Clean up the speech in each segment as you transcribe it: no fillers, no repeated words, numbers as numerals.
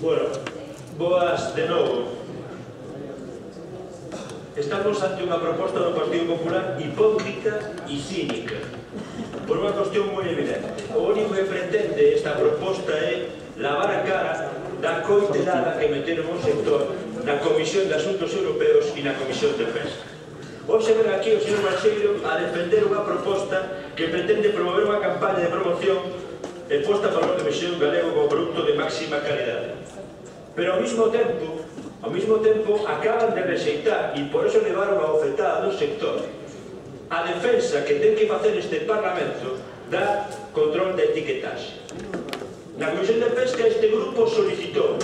Bueno, boas de novo. Estamos ante unha proposta do Partido Popular hipócrita e cínica, por unha cuestión moi evidente. O único que pretende esta proposta é lavar a cara da coitelada que meteron o sector na Comisión de Asuntos Europeos e na Comisión de Pesca. Hoxe ven aquí o señor Balseiro a defender unha proposta que pretende promover unha campaña de promoción e posta a valor do mexillón galego como produto de máxima calidade. Pero ao mesmo tempo acaban de rexeitar, e por eso levaron a ofetada do sector, a defensa que ten que facer este Parlamento da control da etiquetaxe. Na Comisión de Pesca este grupo solicitou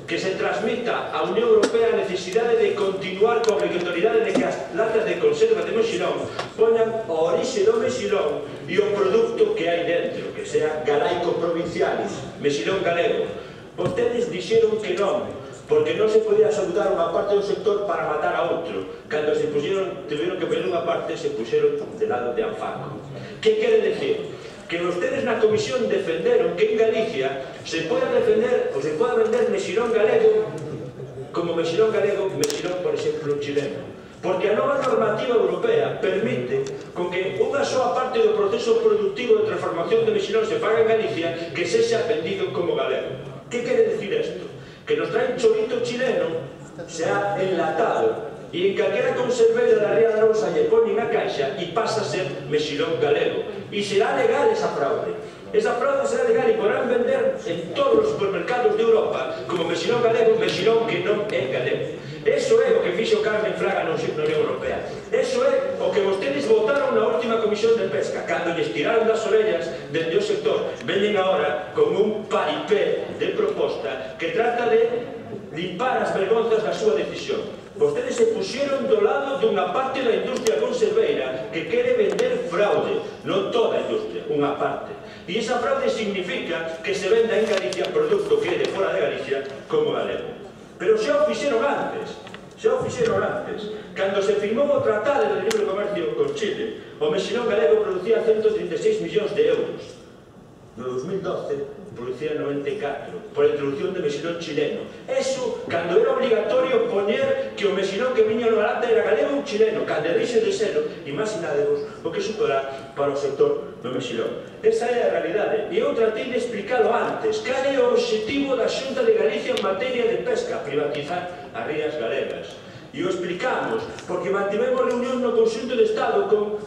que se transmita á Unión Europea a necesidade de continuar coa obrigatoriedade de que as latas de conserva de mexilón poñan a orixe do mexilón e o produto que hai dentro, que sea galaico provincialis, mexilón galego. Vostedes dixeron que non, porque non se podía saludar unha parte do sector para matar a outro. Cando se puxeron, tiveron que poner unha parte, se puxeron de lado de Anfaco. Que quere decir? Que vostedes na comisión defenderon que en Galicia se poda defender ou se poda vender mexilón galego como mexilón galego, mexilón, por exemplo, chileno. Porque a nova normativa europea permite con que unha soa parte do proceso productivo de transformación de mexilón se faga en Galicia que sexa vendido como galego. Que quere decir isto? Que nos traen chorito chileno, se ha enlatado, e en calquera conserveira da Ría da Rosa lle ponen a caixa e pasa a ser mexilón galego. E será legal esa fraude. Esa fraude será legal e podrán vender en todos os supermercados de Europa como mexilón galego, mexilón que non é galego. Eso é o que fixo Carmen Fraga na Unión Europea. Eso é o que vostedes votaron na última Comisión de Pesca. Cando lles tiraron das orellas dende o sector, veñen agora con un paripé de proposta que trata de limpar as vergonzas da súa decisión. Vostedes se puxeron do lado dunha parte da industria conserveira que quere vender fraude, non toda a industria, unha parte. E esa fraude significa que se venda en Galicia produto que é de fora de Galicia como galego. Pero xa o fixeron antes, Cando se firmou o Tratado de Libre Comercio con Chile, o mexilón galego producía 136 millóns de euros. No 2012 producía 94, por a introducción de mexilón chileno. Eso, cando era obligatorio poñer que o mexilón que viña na lata era galego ou chileno, cando deixe de selo, imaginadevos o que suporá para o sector do mexilón. Esa é a realidade. E eu tratei de explicarlo antes. Cal é o objetivo da Xunta de Galicia en materia de pesca? Privatizar as rías galegas. E o explicamos, porque mantivemos reunión no Conxunto de Estado con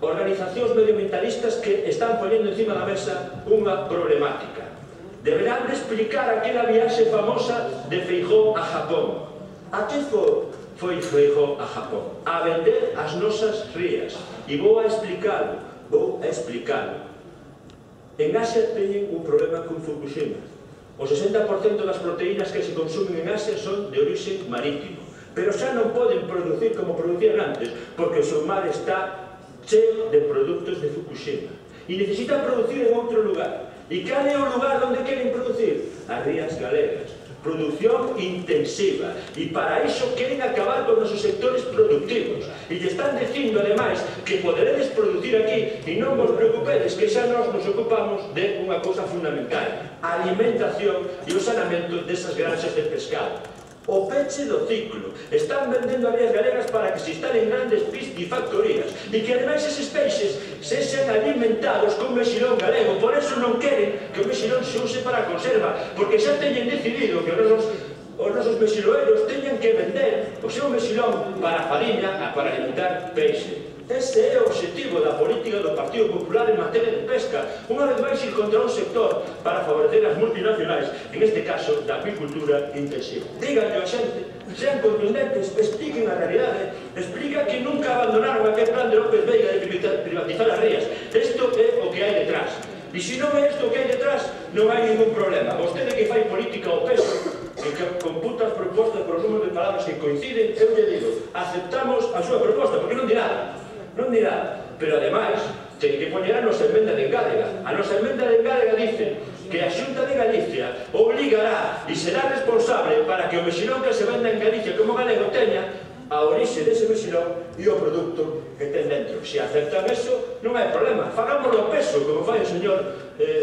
organizacións medioambientalistas que están poñendo encima da mesa unha problemática. Deberán de explicar aquela viaxe famosa de Feijóo a Japón. A que foi Feijóo a Japón? A vender as nosas rías. E vou a explicalo. En Asia teñen un problema con Fukushima. O 60% das proteínas que se consumen en Asia son de orixe marítimo. Pero xa non poden producir como producían antes, porque o seu mar está cheo de produtos de Fukushima e necesitan producir en outro lugar. E cal é o lugar onde queren producir? As rías galegas. Producción intensiva. E para iso queren acabar con os sectores productivos. E lle están dicindo, ademais, que poderedes producir aquí e non vos preocupedes que xa nos ocupamos de unha cousa fundamental: a alimentación e o saneamento desas granxas de pescado. O peche do ciclo. Están vendendo as rías galegas para que se instalen grandes piscifactorías e que ademais eses peixes sexan alimentados con mexilón galego. Por eso non queren que o mexilón se use para a conserva, porque xa teñen decidido que os nosos mexiloeros teñan que vender o seu mexilón para a fariña, para alimentar peixe. Ese é o objetivo da política do Partido Popular en materia de pesca. Unha vez máis ir contra un sector para favorecer as multinacionais, en este caso da apicultura intensiva. Díganle a xente, sean contundentes, expliquen a realidade, explica que nunca abandonaron aquel plan de López Veiga de privatizar as rías. Isto é o que hai detrás. E se non é isto o que hai detrás, non hai ningún problema. Vostede que fai política ao peso, que computa as propostas por os números de palabras que coinciden, eu lle digo, aceptamos a súa proposta, porque non di nada. Pero ademais, ten que poñer a nosa emenda de engádega. A nosa emenda de engádega dice que a Xunta de Galicia obligará e será responsable para que o mexilón que se venda en Galicia como galego teña a orixe dese mexilón e o produto que ten dentro. Se aceptan eso, non hai problema. Fagámoslo o peso, como fai o señor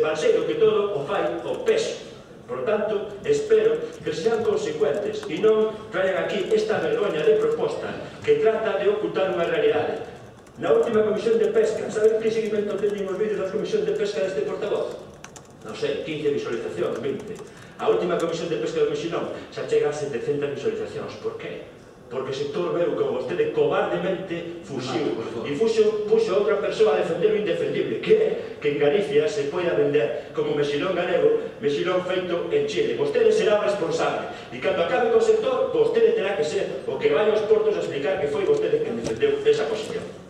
Balseiro, que todo o fai o peso. Por tanto, espero que sean consecuentes e non traigan aquí esta vergoña de proposta que trata de ocultar unha realidade. Na última comisión de pesca, saben que seguimento teñen os vídeos da comisión de pesca deste portavoz? Non sei, 15 visualizacións, 20. A última comisión de pesca do Mexilón xa chega a 700 visualizacións. Por qué? Porque o sector veu como vostede cobardemente fuxiu e puxo a outra persoa a defender o indefendible, que é que en Galicia se poida vender como mexilón galego, mexilón feito en Chile. Vostede será o responsable e cando acabe co sector, vostede terá que ser o que vai aos portos a explicar que foi vostede quen defendeu esa posición.